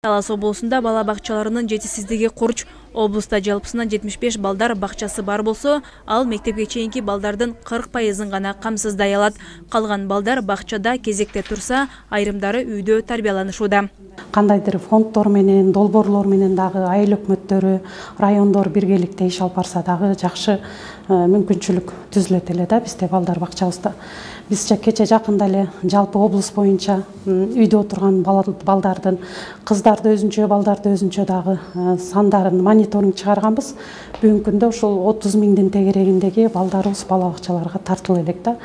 Талас облусунда бала бакчаларынын жетишсиздиги курч. Облуста жалпысынан 75 балдар бакчасы бар болсо, ал мектепке чейинки балдардын 40%-ын гана камсыздай алат. Калган балдар бакчада кезекте турса, айрымдары үйдө тарбияланышууда. Кандайдыр фонддор менен, долбоорлор менен дагы айыл өкмөттөрү, райондор биргеликте иш алып барса дагы жакшы мүмкүнчүлүк түзүлөт эле да бизде балдар бакчабызда. Биз кече жакында эле жалпы облус боюнча үйдө отурган балдардын, кыздарды өзүнчө, балдарды өзүнчө дагы сандарын мониторинг чыгарганбыз. Бүгүнкү күндө ушул 30 миңдин тегерегиндеги балдарыбыз бала бакчаларга тартылып элек да.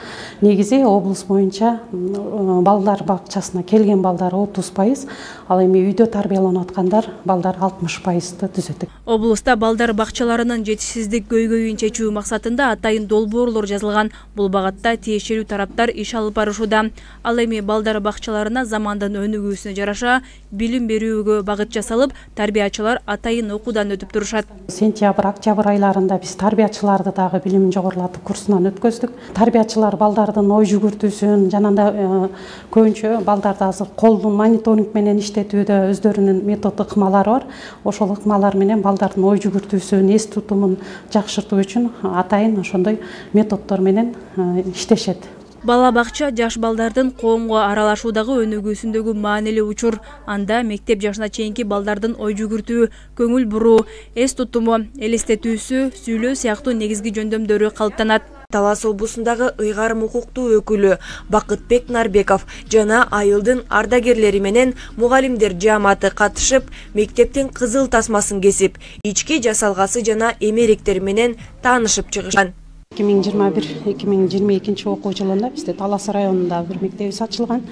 Негизи облус боюнча балдар бакчасына келген балдар 30%, ал эми үйдө тарбияланып аткандар балдар 60%-ды түзөт. Облуста балдар бакчаларынын жетишсиздик көйгөйүн чечүү максатында атайын долбоорлор жазылган. Бул багатта тиешелүү тараптар иш алып барышууда. Ал эми балдар бакчаларына замандын өнүгүүсүнө жараша билим берүүгө багыт жасалып, тарбиячылар атайын окуудан өтүп турушат. Сентябрь, октябрь айларында биз тарбиячыларды дагы билимин жогорулатып курсунан өткөздүк. Тарбиячылар балдардын ой жүгүртүүсүн, жанагындай көбүнчө балдарды азыр колдун мониторинг менен иштетүүдө өздөрүнүн метод ыкмалары бар. Ошол ыкмалар менен балдардын ой жүгүртүүсүн, эс тутумун жакшыртуу үчүн атайын ошондой методдор менен иштешет. Бала бакча жаш балдардын коомго аралашуудагы өнүгүүсүндөгү маанилүү учур. Анда мектеп жашына чейинки балдардын ой жүгүртүү, көңүл буруу, эс тутуму, элестетүүсү, сүйлөө сыяктуу негизги жөндөмдөрү калыптанат. Талас облусундагы ыйгарым укуктуу өкүлү Бакытбек Нарбеков жана айылдын ардагерлери менен мугалимдер жааматы катышып, мектептин кызыл тасмасын кесип, ички жасалгасы жана эмеректер менен таанышып чыгышкан. 2021-2022 окуу жылында бизде Талас районунда бир мектебибиз ачылган.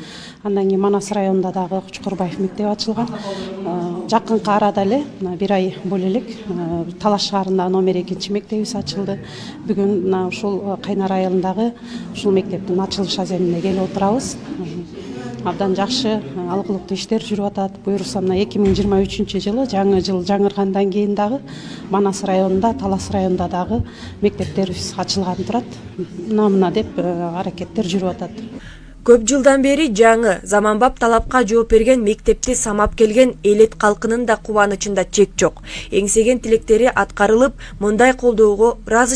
Андан кийин Манас районунда дагы Кучкурбаев мектеби ачылган. Жакынкы арада эле бир ай боло элек Талас шаарында номер 2 мектебибиз ачылды. Бүгүн ушул Кайнар айылындагы ушул мектептин ачылыш аземине келип отурабыз. Абдан жакшы алгылыктуу иштер жүрүп атат. Буюрса мына 2023 жылы жаңы жыл жаңыргандан кийин дагы Манас районунда, Талас районунда дагы мектептерибиз ачылган турат. Мына деп аракеттер жүрүп атат. Көп жылдан бери жаңы, заманбап талапка жооп берген мектепти самап келген элет калкынын да кубанычында чек жок. Эңсеген тилектери аткарылып, мындай колдоого ыраазычылык